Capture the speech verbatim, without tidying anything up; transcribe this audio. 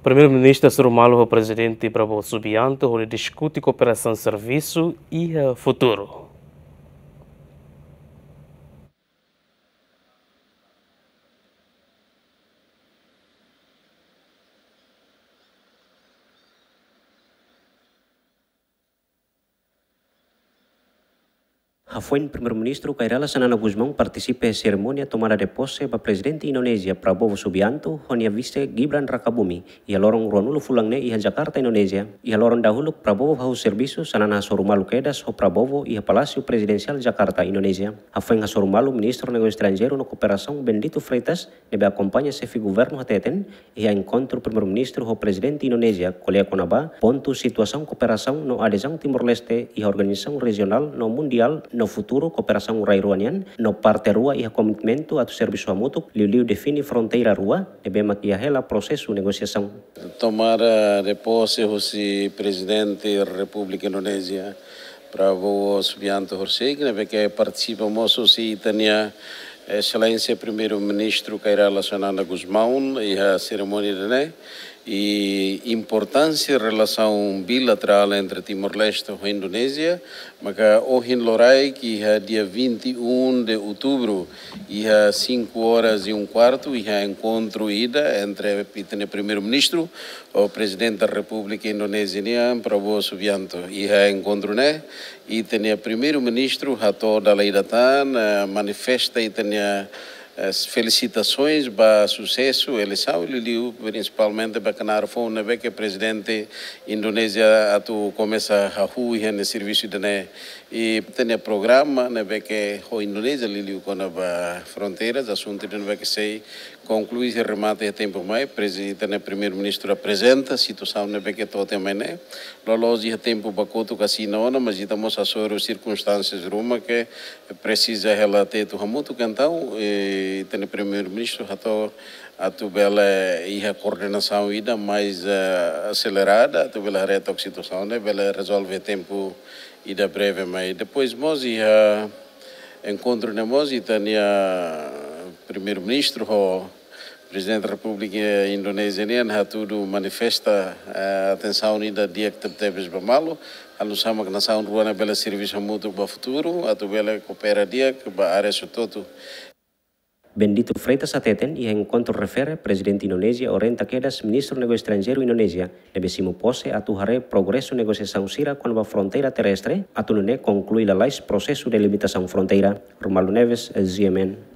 Primeiru-Ministru hasoru malu ho Prezidente Prabowo Subianto hodi diskute kooperasaun servisu iha futuru. Hafoin Primeiru-Ministru Kay Rala Xanana Gusmão partisipa iha serimónia tomada de posse ba Prezidente Indonézia Prabowo Subianto ho nia vise Gibran Rakabuming iha loron ruanulu fulan ne'e iha Jakarta, Indonézia. Iha loron dahuluk Prabowo hahú servisu, Xanana hasoru malu kedas ho Prabowo iha Palásiu Prezidensiál Jakarta, Indonézia. Hafoin hasoru malu Ministru Negósiu Estranjeiru no Kooperasaun Bendito Freitas, ne'ebé akompaña xefe governu hateten, iha enkontru Primeiru-Ministru ho Prezidente Indonézia ko'alia kona-ba pontu situasaun kooperasaun no adezaun Timor-Leste iha organizasaun rejionál no mundiál no futuru kooperasaun rai rua nian, no parte rua iha komitmentu atu servisu hamutuk, liuliu define fronteira rua ne'ebé mak iha hela prosesu negosiasaun. Tomada de posse husi Prezidente Repúblika Indonézia Prabowo Subianto horisehik, ne'ebé ke partisipa mós husi ita-nia Exelénsia Primeiru-Ministru Kay Rala Xanana Gusmão iha serimónia ida-ne'e, i importánsia relasaun bilaterál entre Timor-Leste ho Indonézia, maka ohin loraik iha dia vinte e um de outubro, iha cinco horas e um quarto, iha enkontru ida entre ita-nia Primeiru-Ministru ho Prezidente Repúblika Indonézia nian, Prabowo Subianto. Iha enkontru ne'e, ita-nia Primeiru-Ministru hato'o dala ida tan, eh, manifesta ita-nia, eh, felisitasaun ba susesu eleisaun, liuliu prinsipalmente ba knaar foun ne'ebé ke Prezidente Indonézia atu komesa hahú iha nia servisu ida-ne'e. I ita-nia programa ne'ebé ke ho Indonézia, liuliu kona-ba fronteiras, asuntu ida ne'ebé ke sei konklui i remata iha tempu mai, Prezidente, Primeiru-Ministru aprezenta situasaun ne'ebé ke to'o mai ne'e. Loloos iha tempu ba kotuk asina ona, mas ita mós hasoru sirkunstánsias ruma ke presiza hela tetu hamutuk, entaun, eh, ita-nia Primeiru-Ministru hato'o atu bele iha koordenasaun ida mais, eh, aselerada, atu bele haree took situasaun ne'e bele rezolve tempu ida breve mai. Depois mós iha enkontru ne'e mós ita-nia Primeiru-Ministru ho Prezidente Repúblika Indonézia nian hatudu manifesta, eh, atensaun ida di'ak tebetebes ba malu, halo nu'usá mak nasaun rua ne'e bele servisu hamutuk ba futuru, atu bele koopera di'ak ba área hotu-hotu. Bendito Freitas hateten, iha enkontru refere, Prezidente Indonézia orienta kedas Ministru Negósiu Estranjeiru Indonézia ne'ebé simu pose atu haree progresu negosiasaun sira kona-ba fronteira terrestre, atu nune'e konklui lalais prosesu delimitasaun fronteira. Romualdo Neves, G M N.